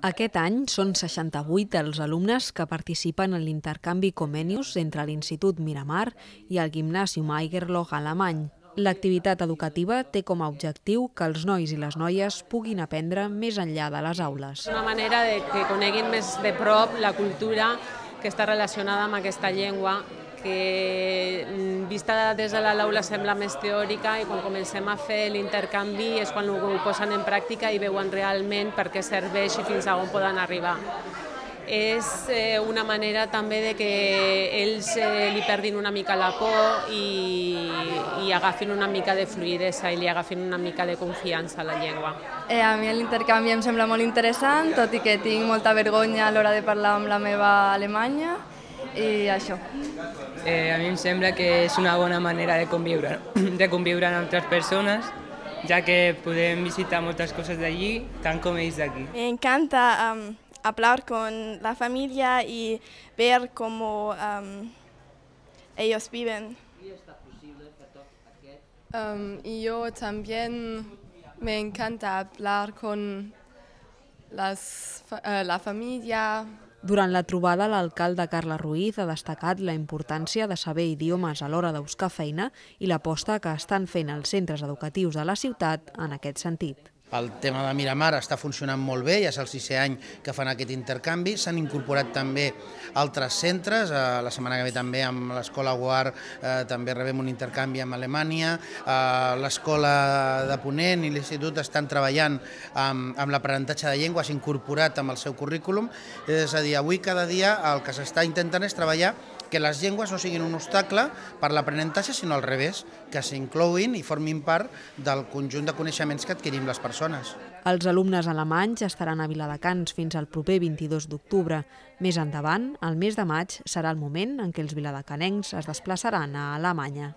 Aquest any són 68 els alumnes que participen en l'intercanvi Comenius entre l'Institut Miramar i el Gymnasium Aigerloch alemany. L'activitat educativa té com a objectiu que els nois i les noies puguin aprendre més enllà de les aules. És una manera de que coneguin més de prop la cultura que està relacionada amb aquesta llengua, que vista des de l'aula sembla més teòrica i quan comencem a fer l'intercanvi és quan ho posen en pràctica i veuen realment per què serveix i fins a on poden arribar. És una manera també de que ells li perdin una mica la por i agafin una mica de fluïdesa i li agafin una mica de confiança a la llengua. A mi l'intercanvi em sembla molt interessant, tot i que tinc molta vergonya a l'hora de parlar amb la meva alemanya i això. A mi em sembla que és una bona manera de conviure amb altres persones, ja que podem visitar moltes coses d'allí, tant com ells d'aquí. Me encanta hablar con la familia y ver cómo ellos viven. Y yo también me encanta hablar con la familia. Durant la trobada, l'alcalde Carles Ruiz ha destacat la importància de saber idiomes a l'hora de buscar feina i l'aposta que estan fent els centres educatius de la ciutat en aquest sentit. El tema de Miramar està funcionant molt bé, ja és el 6è any que fan aquest intercanvi. S'han incorporat també altres centres, la setmana que ve també amb l'Escola Guar també rebem un intercanvi amb Alemanya, l'Escola de Ponent i l'Institut estan treballant amb l'aprenentatge de llengües incorporat amb el seu currículum, és a dir, avui cada dia el que s'està intentant és treballar que les llengües no siguin un obstacle per l'aprenentatge, sinó al revés, que s'inclouin i formin part del conjunt de coneixements que adquirim les persones. Els alumnes alemanys estaran a Viladecans fins al proper 22 d'octubre. Més endavant, el mes de maig, serà el moment en què els viladecanencs es desplaçaran a Alemanya.